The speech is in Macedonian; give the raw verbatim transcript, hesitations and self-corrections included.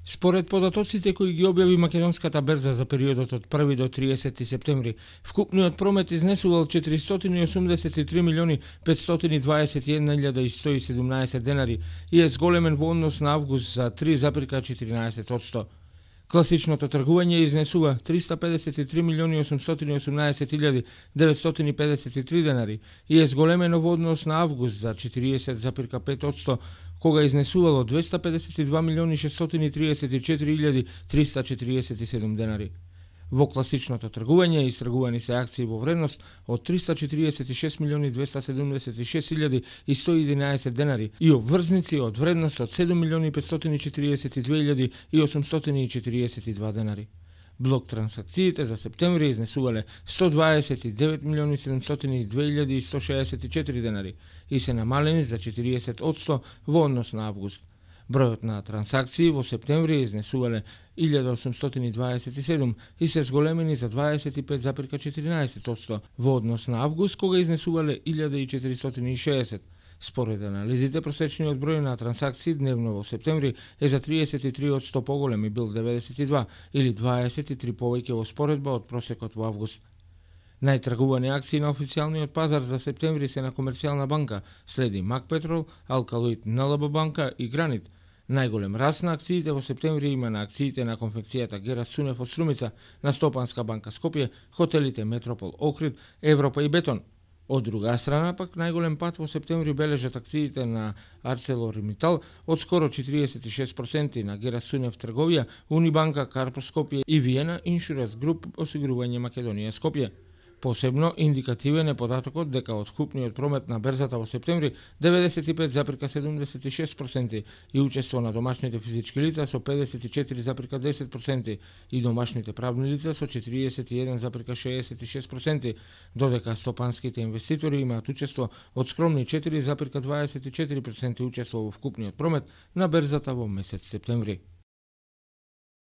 Според податоците кои ги објави македонската берза за периодот од први до триесети септември, вкупниот промет изнесувал четиристотини и осумдесет и три милиони петстотини дваесет и една илјада и сто и седумнаесет денари и е зголемен во однос на август за три запирка четирнаесет одсто. Класичното тргување изнесува триста педесет и три милиони осумстотини и осумнаесет илјади деветстотини и педесет и три денари и е зголемено во однос на август за четириесет запирка пет одсто, кога изнесувало двеста педесет и два милиони шестстотини и триесет и четири илјади триста четириесет и седум денари. Во класичното тргување истргувани се акции во вредност од триста четириесет и шест милиони двеста седумдесет и шест илјади и сто и единаесет денари и обврзници од вредност од седум милиони петстотини и четириесет и две илјади и осумстотини и четириесет и два денари. Блок трансакциите за септември изнесувале сто дваесет и девет милиони седумстотини и две илјади и сто шеесет и четири денари и се намалени за четириесет одсто во однос на август. Бројот на трансакции во септември изнесувале илјада осумстотини дваесет и седум и се зголемени за дваесет и пет запирка четирнаесет одсто во однос на август, кога изнесувале илјада и четиристотини и шеесет. Според анализите, просечниот број на трансакции дневно во септември е за триесет и три одсто поголем и бил деветдесет и два или дваесет и три повеќе во споредба од просекот во август. Најтргувани акции на официјалниот пазар за септември се на Комерцијална банка, следи Макпетрол, Алкалоид ен ел би банка и Гранит. Најголем раст на акциите во септември има на акциите на конфекцијата Герас Цунев од Струмица, на Стопанска банка Скопје, хотелите Метрополь Охрид, Европа и Бетон. Од друга страна пак најголем пат во септември бележат акциите на ArcelorMittal од скоро четириесет и шест проценти, на Герас Цунев Трговија, Унибанка, Карпо Скопје и Виена Иншуранс Груп Осигурување Македонија Скопје. Посебно индикативен е податокот дека од вкупниот промет на берзата во септември деветдесет и пет запирка седумдесет и шест проценти и учество на домашните физички лица со педесет и четири запирка десет проценти и домашните правни лица со четириесет и еден запирка шеесет и шест проценти, додека стопанските инвеститори имаат учество од скромни четири запирка дваесет и четири проценти учество во вкупниот промет на берзата во месец септември.